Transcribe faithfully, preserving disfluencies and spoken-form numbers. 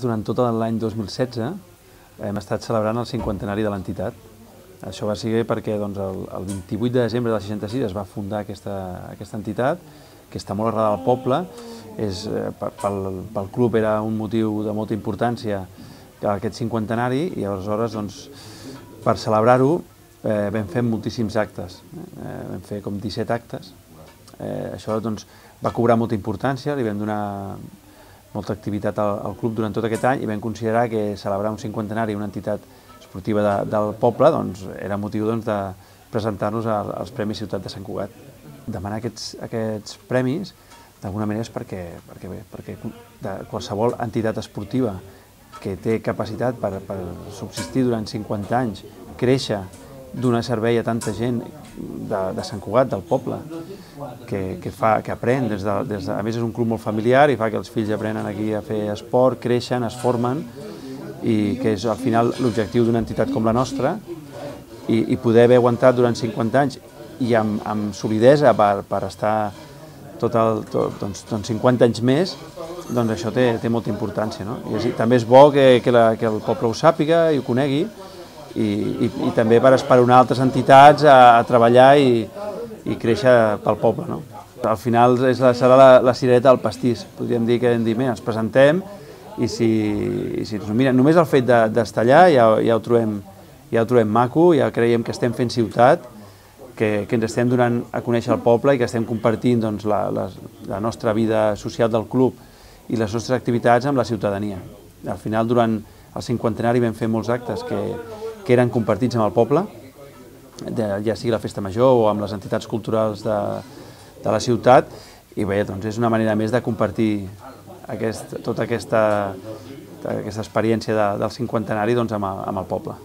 Durant tot l'any dos mil setze hem estat celebrant el cinquantenari de l'entitat. Això va ser perquè doncs, el, el vint-i-vuit de desembre del seixanta-sis es va fundar aquesta, aquesta entitat, que està molt arrelada al poble. És, pel, pel club era un motiu de molta importància aquest cinquantenari i aleshores doncs, per celebrar-ho eh, vam fer moltíssims actes. Eh, vam fer com disset actes. Eh, això doncs, va cobrar molta importància, li vam donar molta activitat al, al club durant tot aquest any i vam considerar que celebrar un cinquantenari una entitat esportiva de, del poble doncs, era motiu doncs, de presentar-nos als Premis Ciutat de Sant Cugat. Demanar aquests, aquests premis d'alguna manera és perquè, perquè, bé, perquè de qualsevol entitat esportiva que té capacitat per, per subsistir durant cinquanta anys, créixer, donar servei a tanta gent de, de Sant Cugat, del poble, que, que, fa, que aprèn, des de, des de, a més és un club molt familiar i fa que els fills aprenen aquí a fer esport, creixen, es formen, i que és al final l'objectiu d'una entitat com la nostra, i, i poder haver aguantat durant cinquanta anys i amb, amb solidesa per, per estar tot el, tot, doncs, doncs cinquanta anys més, doncs això té, té molta importància. No? I és, també és bo que, que, la, que el poble ho sàpiga i ho conegui, i, i, i també per esperonar altres entitats a, a treballar i, i créixer pel poble. No? Al final és la, serà la, la cirereta del pastís. Podríem dir que hem dit, ens presentem i si, i si mira, només el fet d'estar allà ja, ja, ho trobem, ja ho trobem maco, ja creiem que estem fent ciutat, que, que ens estem donant a conèixer el poble i que estem compartint doncs, la, la, la nostra vida social del club i les nostres activitats amb la ciutadania. Al final, durant el cinquantenari vam fer molts actes que, que eren compartits amb el poble, de, ja sigui la Festa Major o amb les entitats culturals de, de la ciutat, i bé, doncs és una manera més de compartir aquest, tota aquesta, aquesta experiència de, del cinquantenari doncs, amb, el, amb el poble.